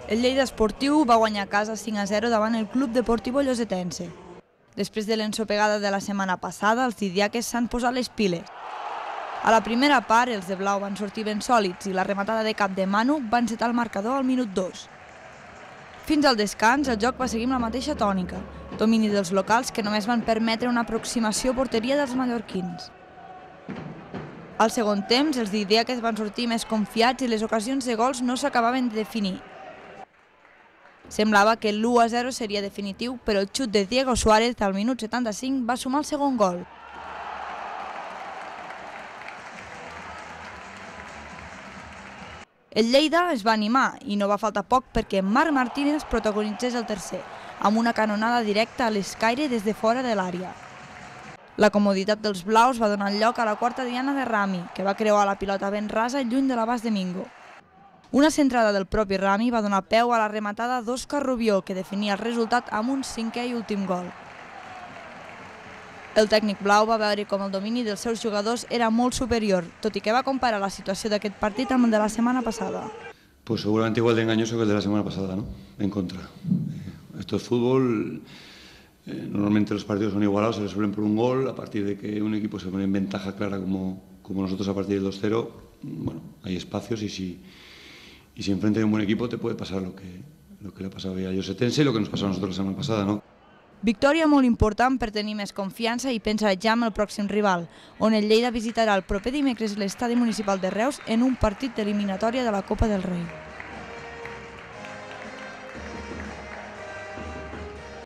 El Lleida Esportiu va guanyar a casa 5-0 davant el Club Deportivo Llosetense. Després de l'ensopegada de la setmana passada, els didiaques s'han posat les piles. A la primera part, els de blau van sortir ben sòlids i la rematada de cap de Manu va encetar el marcador al minut 2. Fins al descans, el joc va seguir amb la mateixa tònica, domini dels locals que només van permetre una aproximació a porteria dels mallorquins. Al segon temps, els didiaques van sortir més confiats i les ocasions de gols no s'acabaven de definir. Semblava que l'1-0 seria definitiu, però el xut de Diego Suárez al minut 75 va sumar el segon gol. El Lleida es va animar i no va faltar poc perquè Marc Martínez protagonitzés el tercer, amb una canonada directa a l'escaire des de fora de l'àrea. La comoditat dels blaus va donar lloc a la quarta diana de Rami, que va creuar la pilota ben rasa lluny de l'abast de Mingo. Una centrada del propi Rami va donar peu a la rematada d'Òscar Rubió, que definia el resultat amb un cinquè i últim gol. El tècnic blau va veure com el domini dels seus jugadors era molt superior, tot i que va comparar la situació d'aquest partit amb el de la setmana passada. Pues seguramente igual de engañoso que el de la semana pasada, ¿no? En contra. Esto es fútbol. Normalmente los partidos son igualados, se resuelven por un gol. A partir de que un equipo se pone en ventaja clara como nosotros a partir del 2-0, bueno, hay espacios y si enfrente de un buen equipo te puede pasar lo que le ha pasado a Llosetense y lo que nos pasó a nosotros la semana pasada, ¿no? Victòria molt important per tenir més confiança i pensar ja en el pròxim rival, on el Lleida visitarà el proper dimecres l'estadi municipal de Reus en un partit d'eliminatòria de la Copa del Rei.